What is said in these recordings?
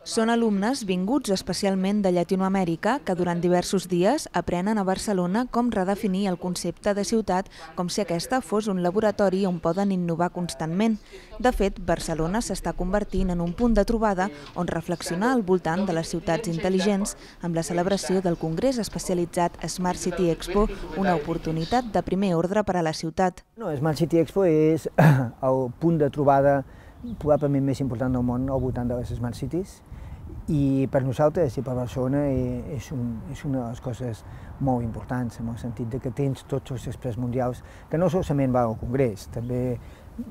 Són alumnes vinguts especialment de Llatinoamèrica que durant diversos dies aprenen a Barcelona com redefinir el concepte de ciutat com si aquesta fos un laboratori on poden innovar constantment. De fet, Barcelona s'està convertint en un punt de trobada on reflexionar al voltant de les ciutats intel·ligents amb la celebració del congrés especialitzat Smart City Expo, una oportunitat de primer ordre per a la ciutat. Smart City Expo és el punt de trobada probablement més important del món al voltant de les Smart Cities, i per nosaltres i per Barcelona és una de les coses molt importants, en el sentit que tens tots els experts mundials que no solament van al Congrés, també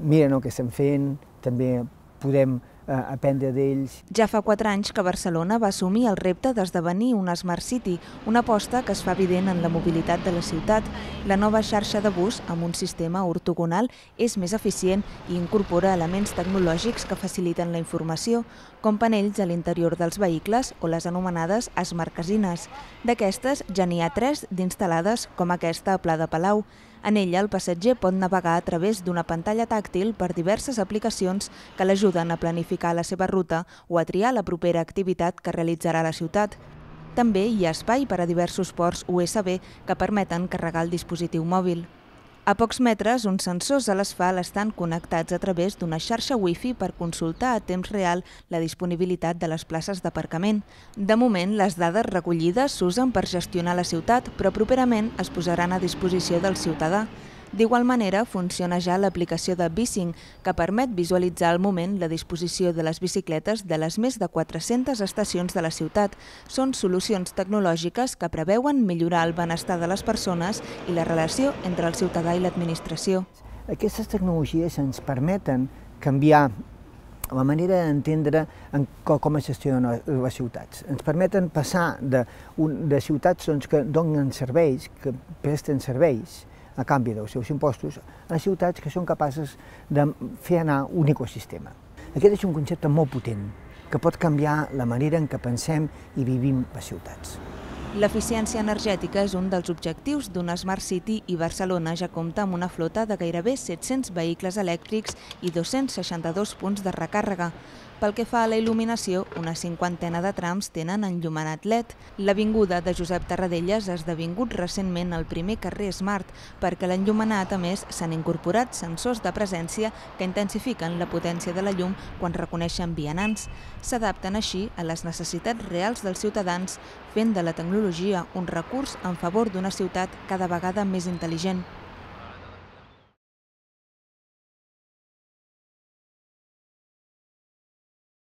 miren el que estem fent, també podem aprendre d'ells. Ja fa 4 anys que Barcelona va assumir el repte d'esdevenir una Smart City, una aposta que es fa evident en la mobilitat de la ciutat. La nova xarxa de bus, amb un sistema ortogonal, és més eficient i incorpora elements tecnològics que faciliten la informació, com panells a l'interior dels vehicles o les anomenades Smart Casines. D'aquestes ja n'hi ha 3 d'instal·lades, com aquesta a Pla de Palau. En ella, el passatger pot navegar a través d'una pantalla tàctil per diverses aplicacions que l'ajuden a planificar la seva ruta o a triar la propera activitat que realitzarà a la ciutat. També hi ha espai per a diversos ports USB que permeten carregar el dispositiu mòbil. A pocs metres, uns sensors a l'asfalt estan connectats a través d'una xarxa Wi-Fi per consultar a temps real la disponibilitat de les places d'aparcament. De moment, les dades recollides s'usen per gestionar la ciutat, però properament es posaran a disposició del ciutadà. D'igual manera, funciona ja l'aplicació de Bicing, que permet visualitzar al moment la disposició de les bicicletes de les més de 400 estacions de la ciutat. Són solucions tecnològiques que preveuen millorar el benestar de les persones i la relació entre el ciutadà i l'administració. Aquestes tecnologies ens permeten canviar la manera d'entendre com es gestionen les ciutats. Ens permeten passar de ciutats que donen serveis, que presten serveis, a canvi dels seus impostos, a ciutats que són capaces de fer anar un ecosistema. Aquest és un concepte molt potent, que pot canviar la manera en què pensem i vivim les ciutats. L'eficiència energètica és un dels objectius d'una Smart City i Barcelona ja compta amb una flota de gairebé 700 vehicles elèctrics i 262 punts de recàrrega. Pel que fa a la il·luminació, una 50ena de trams tenen enllumenat LED. L'avinguda de Josep Tarradellas ha esdevingut recentment el primer carrer Smart, perquè a l'enllumenat, a més, s'han incorporat sensors de presència que intensifiquen la potència de la llum quan reconeixen vianants. S'adapten així a les necessitats reals dels ciutadans, fent de la tecnologia un recurs en favor d'una ciutat cada vegada més intel·ligent.